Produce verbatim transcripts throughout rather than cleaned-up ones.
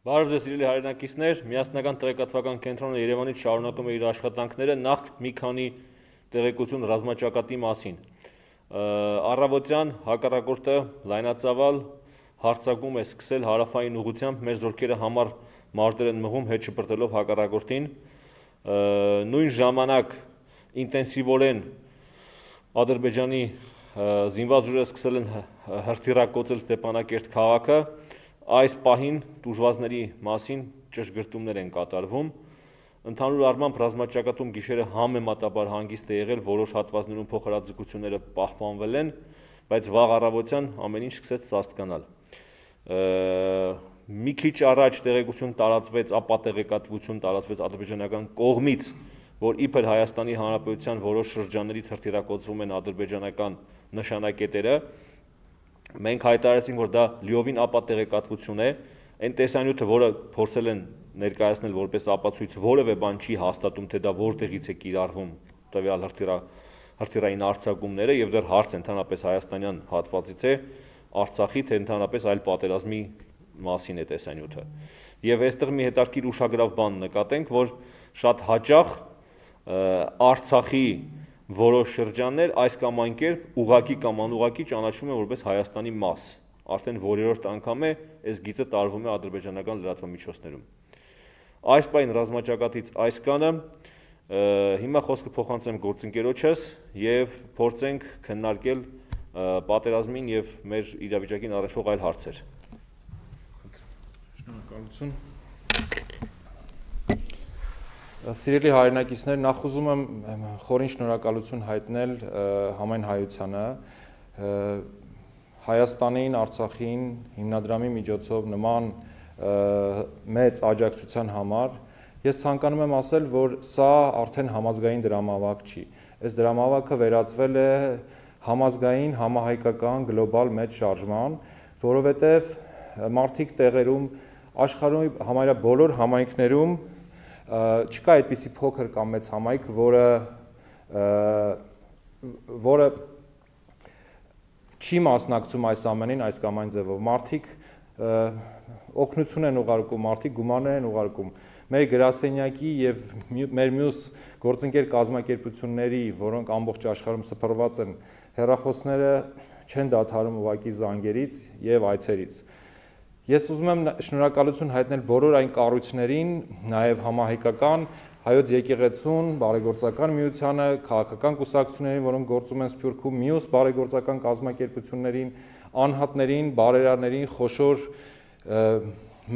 Բարև ձեզ սիրելի հայրենակիցներ, միասնական տեղեկատվական կենտրոնը Երևանից շարունակում է իր աշխատանքները նախ մի քանի տեղեկություն ռազմաճակատի մասին։ Առավոտյան հակառակորդը լայնածավալ հարձակում է սկսել հարավային ուղղությամբ, մեր զորքերը համար մարտեր են մղում հետ շպրտելով հակառակորդին։ Նույն ժամանակ ինտենսիվորեն Ադրբեջանի զինված ուժերը սկսել են հրթիռակոծել Ստեփանակերտ քաղաքը։ Այս պահին տուժվածների մասին ճշգրտումներ են կատարվում։ Ընդհանուր առմամբ ռազմաճակատում գիշերը համեմատաբար հանգիստ է եղել, որոշ հատվածներում փոխհրաձգությունները պահպանվել են, բայց վաղ առավոտյան ամեն ինչ սկսեց սաստկանալ։ Մի քիչ առաջ տեղեկություն տարածվեց, ապա տեղեկատվություն տարածվեց ադրբեջանական կողմից, որ իբր Հայաստանի Հանրապետության որոշ շրջաններից հրթիռակոծվում են ադրբեջանական նշանակետերը։ Մենք հայտարարեցինք, որ դա լիովին ապա տեղեկատվություն է, այն տեսանյութը, որը փորձել են ներկայացնել որպես ապացույց, որևէ բան չի հաստատում, թե դա որտեղից է կիրառվում տվյալ հրթիռային արձակումները, եւ դեռ հարց ընդհանրապես հայաստանյան հատվածից է, Արցախի, թե ընդհանրապես այլ պատերազմի մասին է տեսանյութը։ Եվ այստեղ մի հետաքրքիր ուշագրավ բան նկատենք, որ շատ հաճախ Արցախի որոշ շրջաններ այս կամ այն կերպ ուղղակի կամ անուղղակի ճանաչվում են որպես Հայաստանի մաս։ Արդեն որերորդ անգամ է այս գիծը տարվում է ադրբեջանական լրատվամիջոցներում։ Այս պայն ռազմաճակատից այս կանը, հիմա խոսքը փոխանցեմ գործընկերոջս եւ փորձենք քննարկել պատերազմին եւ մեր իրավիճակին առնչվող այլ հարցեր։ Շնորհակալություն։ Սիրելի հայրենակիցներ, նախ ուզում եմ խորին շնորհակալություն հայտնել համայն հայությանը, Հայաստանին, Արցախին հիմնադրամի միջոցով նման մեծ աջակցության համար։ Ես ցանկանում եմ ասել, որ սա արդեն համազգային դրամավարկ չի։ Այս դրամավարկը վերածվել է համազգային, համահայկական, գլոբալ մեծ շարժման, որովհետև մարդիկ տեղերում, աշխարհի համարյա բոլոր համայնքներում չկա այդպիսի փոքր կամ մեծ համայնք, որը որը չի մասնակցում այս ամենին այս կամ այն ձևով։ Մարդիկ օգնություն են ուղարկում, մարդիկ գումարներ են ուղարկում։ Մեր գրասենյակի եւ մեր մյուս գործընկեր կազմակերպությունների, որոնք ամբողջ աշխարհում սփռված են, հեռախոսները չեն դադարում ուղակի զանգերից եւ այցերից։ Ես ուզում եմ շնորհակալություն հայտնել բոլոր այն կառույցներին, նաեւ համահայկական Հայոց եկեղեցուն, բարեգործական միությանը, քաղաքական կուսակցություններին, որոնք գործում են Սփյուռքում, մյուս բարեգործական կազմակերպություններին, անհատներին, բարերարներին, խոշոր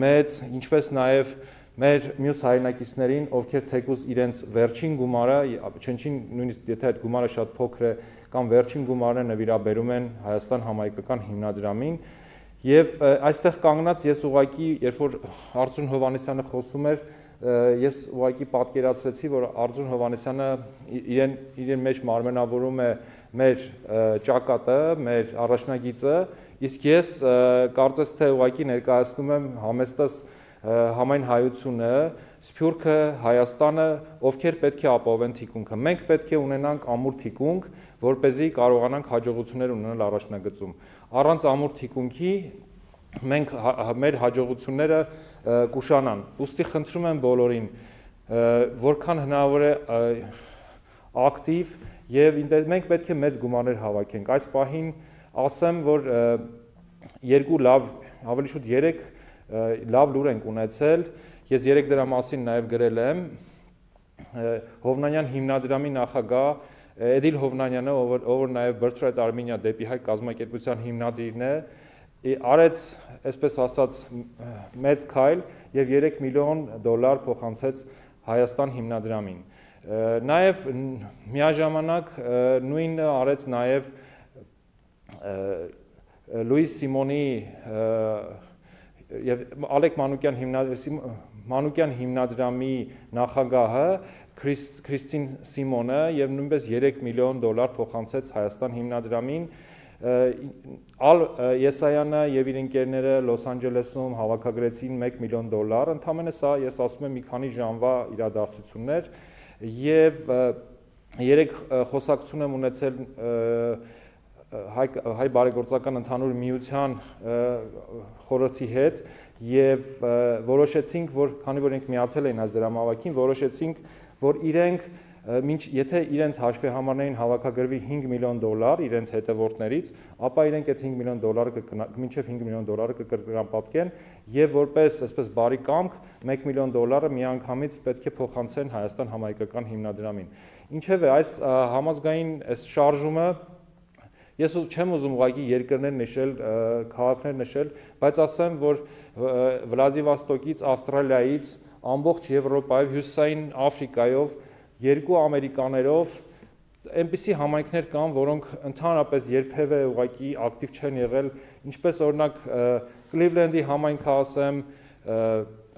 մեծ, ինչպես նաեւ մեր մյուս հայրենակիցներին, ովքեր թեկուզ իրենց վերջին գումարը, չնչին նույնիսկ եթե այդ գումարը շատ փոքր է, կամ վերջին գումարը նվիրաբերում են Հայաստան համայնքական հիմնադրամին։ Եվ այստեղ կանգնած ես ուղղակի, երբ որ Արտուր Հովհաննիսյանը խոսում էր, ես ուղղակի պատկերացրեցի, որ Արտուր Հովհաննիսյանը իրեն իրեն մեջ մարմնավորում է մեր ճակատը, մեր առաջնագիծը, իսկ ես կարծես թե ուղղակի ներկայացնում եմ համեստս համայն հայությունը, Սփյուռքը, Հայաստանը, ովքեր պետք է ապահովեն թիկունքը։ Մենք պետք է ունենանք ամուր թիկունք, որպեսզի կարողանանք հաջողություններ ունենալ առաջնագծում։ Առանց ամուր թիկունքի մենք մեր հաջողությունները կուշանան։ Ուստի խնդրում եմ բոլորին, որքան հնարավոր է ակտիվ եւ մենք պետք է մեծ գումարներ հավաքենք։ Այս պահին ասեմ, որ երկու լավ, ավելի շուտ երեք լավ լուր ենք ունեցել։ Ես երեք դրա մասին նաև գրել եմ։ Հովնանյան հիմնադրամի նախագահ Էդիլ Հովնանյանը, ով նաև Birthright Armenia դեպի հայ կազմակերպության հիմնադիրն է, արեց, այսպես ասած, մեծ քայլ եւ երեք միլիոն դոլար փոխանցեց Հայաստան հիմնադրամին։ Նաև միաժամանակ նույնը արեց նաև Լուիս Սիմոնի եւ Ալեք Մանուկյան հիմնադրամի Մանուկյան հիմնադրամի նախագահը Քրիստին Սիմոնը եւ նույնպես երեք միլիոն դոլար փոխանցեց Հայաստան հիմնադրամին։ Ալ Եսայանը եւ իր ընկերները Լոս Անջելեսում հավաքագրեցին մեկ միլիոն դոլար, ընդամենը սա ես ասում եմ մի քանի ժամվա իրադարձություններ եւ երեք խոսակցություն եմ ունեցել հայ բարեգործական ընդհանուր միության խորհրդի հետ եւ որոշեցինք, որ քանի որ իրենք միացել էին այս դրամավակին, որոշեցինք, որ իրենք մինչ եթե իրենց հաշվի համարներին հավաքագրվի հինգ միլիոն դոլար իրենց հետևորդներից, ապա իրենք այդ հինգ միլիոն դոլարը մինչև հինգ միլիոն դոլարը կկրկնապատկեն եւ որպես այսպես բարի կամք մեկ միլիոն դոլարը միանգամից պետք է փոխանցեն Հայաստան համահայկական հիմնադրամին։ Ինչևէ, այս համազգային այս շարժումը ես չեմ ուզում ուղղակի երկրներ նշել, քաղաքներ նշել, բայց ասեմ, որ Վլադիվոստոկից, Ավստրալիայից, ամբողջ Եվրոպայով, Հյուսիսային Աֆրիկայով երկու ամերիկաներով այնպիսի համայնքներ կան, որոնք ընդհանրապես երբևէ ուղղակի ակտիվ չեն եղել, ինչպես օրինակ Կլիվլենդի համայնքը ասեմ,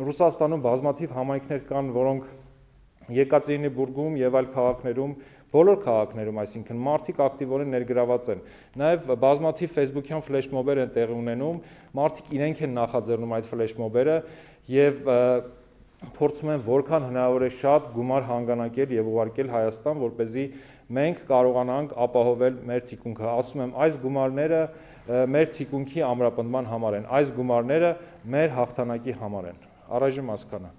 Ռուսաստանում բազմաթիվ համայնքներ կան, որոնք Եկատերինբուրգում եւ այլ քաղաքներում, բոլոր քաղաքներում, այսինքն մարդիկ ակտիվորեն ներգրաված են։ Նաեւ բազմաթիվ Facebook-յան ֆլեշմոբեր են տեղի ունենում, մարդիկ իրենք են նախաձեռնում այդ ֆլեշմոբերը եւ փորձում են որքան հնարավոր է շատ գումար հանգանակել եւ ուղարկել Հայաստան, որպեսզի մենք կարողանանք ապահովել մեր թիկունքը։ Ասում եմ, այս գումարները մեր թիկունքի ամրապնդման համար են, այս գումարները մեր հաղթանակի համար են։ Առայժմ հասկանա։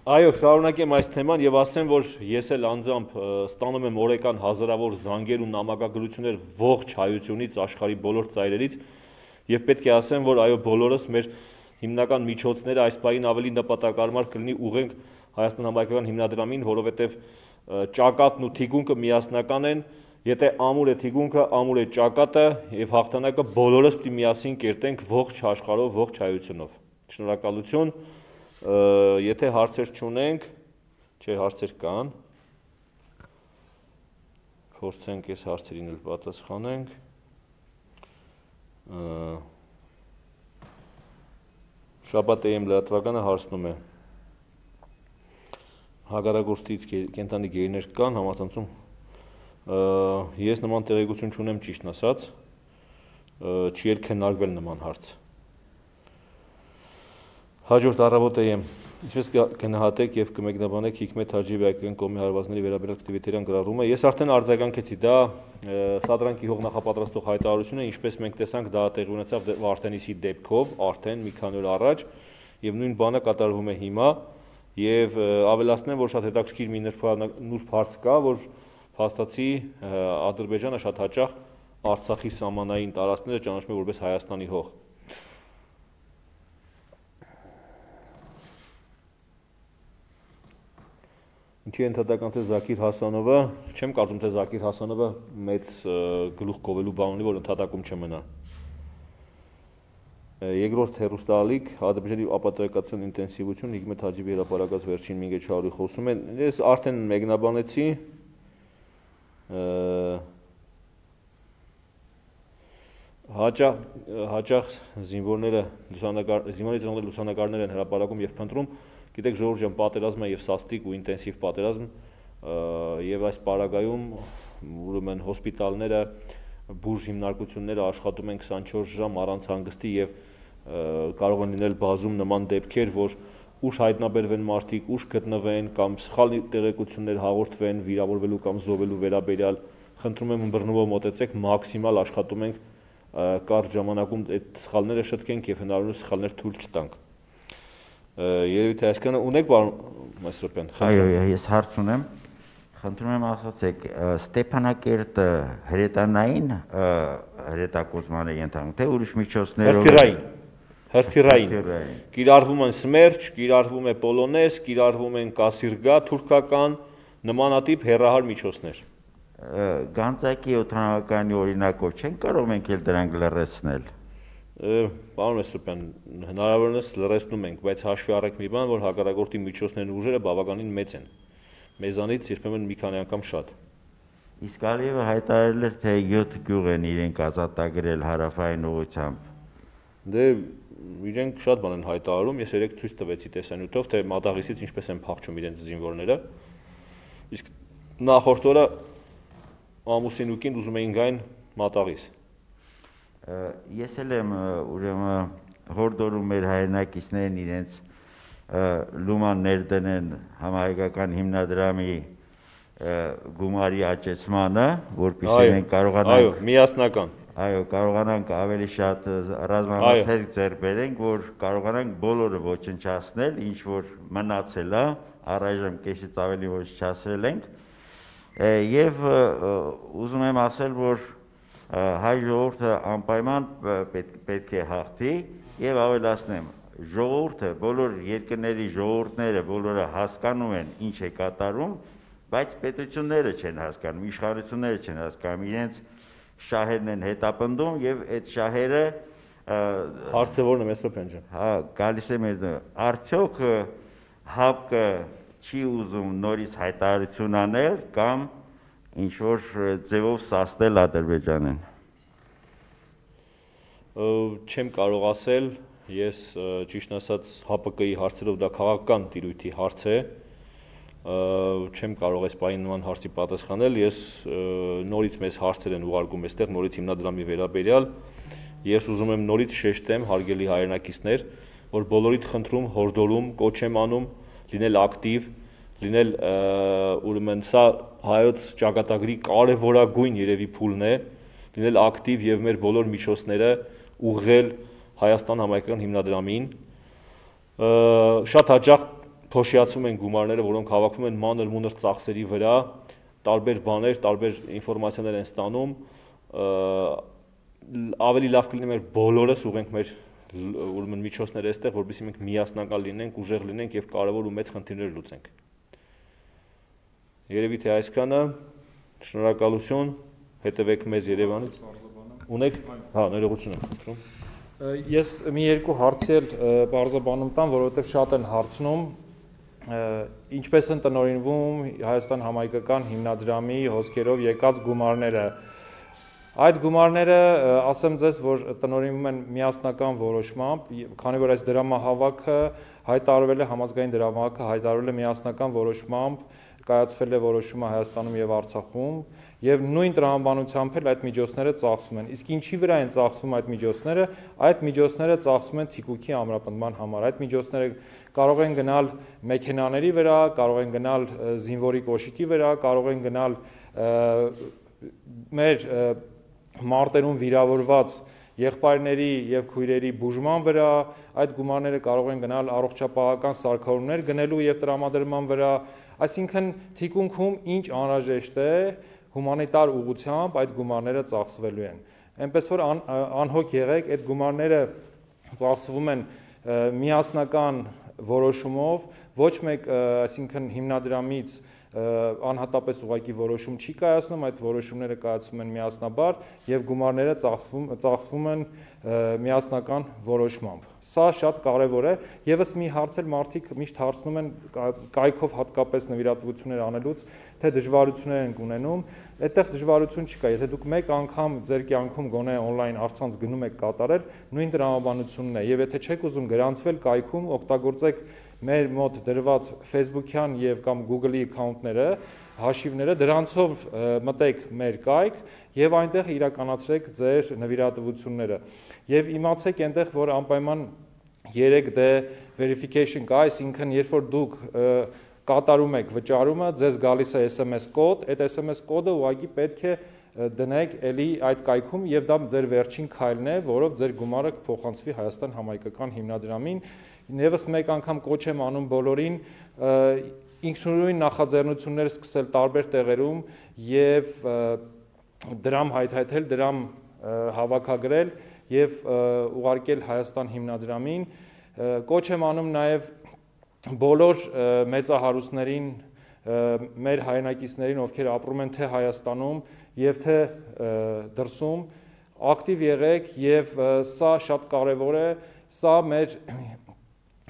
Այո, շարունակեմ այս թեման եւ ասեմ, որ ես էլ անձամբ ստանում եմ օրական հազարավոր զանգեր ու նամակագրություններ ողջ հայությունից, աշխարհի բոլոր ծայրերից եւ պետք է ասեմ, որ այո, բոլորս մեր հիմնական միջոցները այս պահին ավելի նպատակարար կլինի ուղենք Հայաստան համահայկական հիմնադրամին, որովհետեւ ճակատն ու թիկունքը միասնական են, եթե ամուր է թիկունքը, ամուր է ճակատը եւ հաղթանակը բոլորս պիտի միասին կերտենք ողջ աշխարհով, ողջ հայությունով։ Շնորհակալություն։ Եթե հարցեր չունենք, չէ, հարցեր կան, փորձենք այս հարցերին էլ պատասխանենք։ Շաբաթ էմ լրատվականը հարցնում է հագարագործից կենտանի գերիներ կան համացանցում, ես նման տեղեկություն չունեմ ճիշտն ասած, չի էլ քննարկվել նման հարց։ Հաջորդ առավոտ եմ, ինչպես կգնահատեք եւ կմեկնաբանեք Հիկմետ Հաջիևի հայկական կողմի հարվածների վերաբերյալ ակտիվիտետյան գրառումը։ Ես արդեն արձագանքեցի, դա սադրանքի հող նախապատրաստող հայտարարություն է, ինչպես մենք տեսանք, դա տեղի ունեցավ Վարդենիսի դեպքով, արդեն մի քանի օր առաջ, եւ նույն բանը կատարվում է հիմա, եւ ավելացնեմ, որ շատ հետաքրքիր մի նուրբ հարց կա, որ փաստացի Ադրբեջանը շատ հաճախ Արցախի սահմանային տարածքները ճանաչում է որպես Հայաստանի հող։ Ինչի ընդհատական թե Զաքիր Հասանովը, չեմ կարծում թե Զաքիր Հասանովը մեծ գլուխ կովելու բան ունի, որ ընդհատակում չմնա։ Երկրորդ հեռուստաալիք, Ադրբեջանի ապատեկացիոն ինտենսիվություն, Հիկմետ Հաջիևի հրապարակած վերջին մի քանի խոսում են, ես արդեն մեկնաբանեցի, հաճախ հաճախ զինվորները զինվորների լուսանկարներ են հրապարակում եւ փնտրում, գիտեք ժողովուրդ ջան, պատերազմը եւ սաստիկ ու ինտենսիվ պատերազմ եւ այս պարագայում ուրեմն հոսպիտալները, բուժ հիմնարկությունները աշխատում են քսանչորս ժամ առանց հանգստի եւ կարող են լինել բազում նման դեպքեր, որ ուշ հայտնաբերվեն մարդիկ, ուշ գտնվեն կամ սխալ տեղեկություններ հաղորդվեն վիրավորվելու կամ զոհվելու վերաբերյալ, խնդրում եմ ըմբռնումով մոտեցեք, մաքսիմալ աշխատում ենք կարճ ժամանակում այդ սխալները շտկենք եւ հնարավորինս սխալներ թույլ չտանք։ Երևի թե այսքանը ունեք, պարոն Մեսրոպյան։ Այո, ես հարց ունեմ։ Խնդրում եմ ասացեք, Ստեփանակերտը հրետանային հրետակոծման է ենթարկվում, թե ուրիշ միջոցներով։ Հրթիռային, հրթիռային։ Կիրառվում են Սմերջ, կիրառվում է Պոլոնես, կիրառվում են Կասիրգա, թուրքական, նմանատիպ հեռահար միջոցներ։ Գանձակի օդանավականի օրինակով չեն կարող մենք էլ դրանք լրացնել։ Պարոն Մեսրոպյան, հնարավորինս լրացնում ենք, բայց հաշվի առեք մի բան, որ հակառակորդի միջոցներն ու ուժերը բավականին մեծ են։ Մեզանից երբեմն մի քանի անգամ շատ։ Իսկ Ալիևը հայտարարել էր, թե յոթ գյուղ են իրենք ազատագրել հարավային ուղղությամբ։ Դե իրենք շատ բան են հայտարարում, ես երեք ցույց տվեցի տեսանյութով, թե Մադաղիսից ինչպես են փախչում իրենց զինվորները։ Իսկ նախորդ օրը ամուսինուկին ուզում էին գային Մատաղիս։ Ես էլ եմ ուրեմն հորդորում մեր հայրենակիցներն իրենց լուման ներդնեն համահայկական հիմնադրամի գումարի աճեցմանը, որպեսզի մենք կարողանանք այո, միասնական այո, կարողանանք ավելի շատ ռազմամթերք ձեռք բերենք, որ կարողանանք բոլորը ոչնչացնել, ինչ որ մնացել է, առայժմ կեսից ավելի ոչնչացրել ենք, եւ ուզում եմ ասել, որ հայ ժողովուրդը անպայման պետք է հաղթի եւ ավելացնեմ, ժողովուրդը, բոլոր երկրների ժողովուրդները բոլորը հասկանում են ինչ է կատարում, բայց պետությունները չեն հասկանում, իշխանությունները չեն հասկանում, իրենց շահերն են հետապնդում եւ այդ շահերը հարցը որն է Մեսրոպյան ջան։ Հա, գալիս է մեր արդյոք ՀԱՊԿ-ը չի ուզում նորից հայտարարություն անել կամ ինչ որ ձևով սաստել Ադրբեջանին։ Չեմ կարող ասել, ես ճիշտ ասած ՀԱՊԿ-ի հարցերով դա քաղաքական տիրույթի հարց է, չեմ կարող այս պահին նման հարցի պատասխանել, ես նորից մեզ հարցեր են ուղարկում այստեղ, նորից հիմնադրամի վերաբերյալ, ես ուզում եմ նորից շեշտեմ, հարգելի հայրենակիցներ, որ բոլորիդ խնդրում, հորդորում, կոչ եմ անում, լինել ակտիվ, լինել ուրեմն սա հայոց ճակատագրի կարևորագույն երևի փուլն է, լինել ակտիվ եւ մեր բոլոր միջոցները ուղղել Հայաստան համայնքական հիմնադրամին, շատ հաճախ փոշիացում են գումարները, որոնք հավաքվում են մանր-մունր ծախսերի վրա, տարբեր բաներ, տարբեր ինֆորմացիաներ են ստանում, ավելի լավ կլինի մեր բոլորս ուղենք մեր ուրեմն միջոցները այստեղ, որպեսզի մենք միասնական լինենք, ուժեղ լինենք եւ կարևոր ու մեծ խնդիրներ լուծենք։ Երևի թե այսքանը, շնորհակալություն, հետևեք մեզ Երևանից։ Ունեք, հա, ներողություն եմ խնդրում։ Ես մի երկու հարցի էլ բարձրաբանում տամ, որովհետև շատ են հարցնում, ինչպես են տնօրինվում Հայաստան համայնքական հիմնադրամի հոսքերով եկած գումարները։ Այդ գումարները, ասեմ ձեզ, որ տնօրինվում են միասնական որոշմամբ, քանի որ այս դրամահավաքը հայտարարվել է, համազգային դրամահավաքը հայտարարվել է միասնական որոշմամբ, կայացվել է որոշումը Հայաստանում եւ Արցախում, եւ նույն տրամաբանությամբ էլ այդ միջոցները ծախսում են։ Իսկ ինչի վրա են ծախսում այդ միջոցները, այդ միջոցները ծախսում են թիկունքի ամրապնդման համար։ Այդ միջոցները կարող են գնալ մեքենաների վրա, կարող են գնալ զինվորի կոշիկի վրա, կարող են գնալ մեր մարտերում վիրավորված եղբայրների եւ քույրերի բուժման վրա, այդ գումարները կարող են գնալ առողջապահական սարքավորումներ գնելու եւ տրամադրման վրա, այսինքն թիկունքում ինչ անհրաժեշտ է հումանիտար ուղղությամբ այդ գումարները ծախսվելու են։ Այնպես որ անհոգ եղեք, այդ գումարները ծախսվում են միասնական որոշումով, ոչ մեկ, այսինքն հիմնադրամից անհատապես ուղղակի որոշում չի կայացնում, այդ որոշումները կայացվում են միասնաբար եւ գումարները ծախսվում ծախսվում են միասնական որոշմամբ։ Սա շատ կարեւոր է, եւս մի հարց էլ մարդիկ միշտ հարցնում են կայքով հատկապես նվիրատվություններ անելուց, թե դժվարություններ են ունենում, այդտեղ դժվարություն չկա, եթե դուք մեկ անգամ ձեր կյանքում գոնե on-line առցանց գնում եք կատարել, նույն տրամաբանությունն է, եւ եթե չեք ուզում գրանցվել կայքում, օգտագործեք մեր մոտ դրված Facebook-յան եւ կամ Google-ի account-ները, հաշիվները, դրանցով մտեք մեր կայք եւ այնտեղ իրականացրեք ձեր նվիրատվությունները։ Եվ իմացեք այնտեղ, որ անպայման երեք դե verification կա, այսինքն երբ որ դուք կատարում եք վճարումը, ձեզ գալիս է S M S կոդ, այդ S M S կոդը ուղղակի պետք է դնեք էլի այդ կայքում եւ դա ձեր վերջին քայլն է, որով ձեր գումարը կփոխանցվի Հայաստան համայնքական հիմնադրամին։ Եվս մեկ անգամ կոչ եմ անում բոլորին ինքնուրույն նախաձեռնություններ սկսել տարբեր տեղերում եւ դրամ հայթայթել, դրամ հավաքագրել եւ ուղարկել Հայաստան հիմնադրամին։ Կոչ եմ անում նաեւ բոլոր մեծահարուստներին, մեր հայրենակիցներին, ովքեր ապրում են թե Հայաստանում եւ թե դրսում, ակտիվ եղեք եւ սա շատ կարեւոր է, սա մեր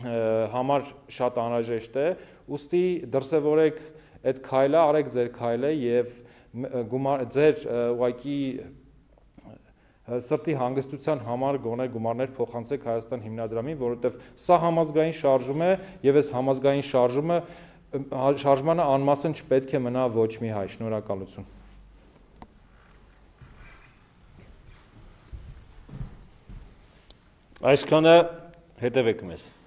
համար շատ անհրաժեշտ է, ուստի դրսևորեք այդ քայլը, արեք ձեր քայլը եւ ձեր ուղղակի սրտի հանգստության համար գոնե գումարներ փոխանցեք Հայաստան հիմնադրամին, որովհետեւ սա համազգային շարժում է եւ այս համազգային շարժումը շարժմանը անմասն չպետք է մնա ոչ մի հայ։ Շնորհակալություն։ Այսքանը հետևեք մեզ։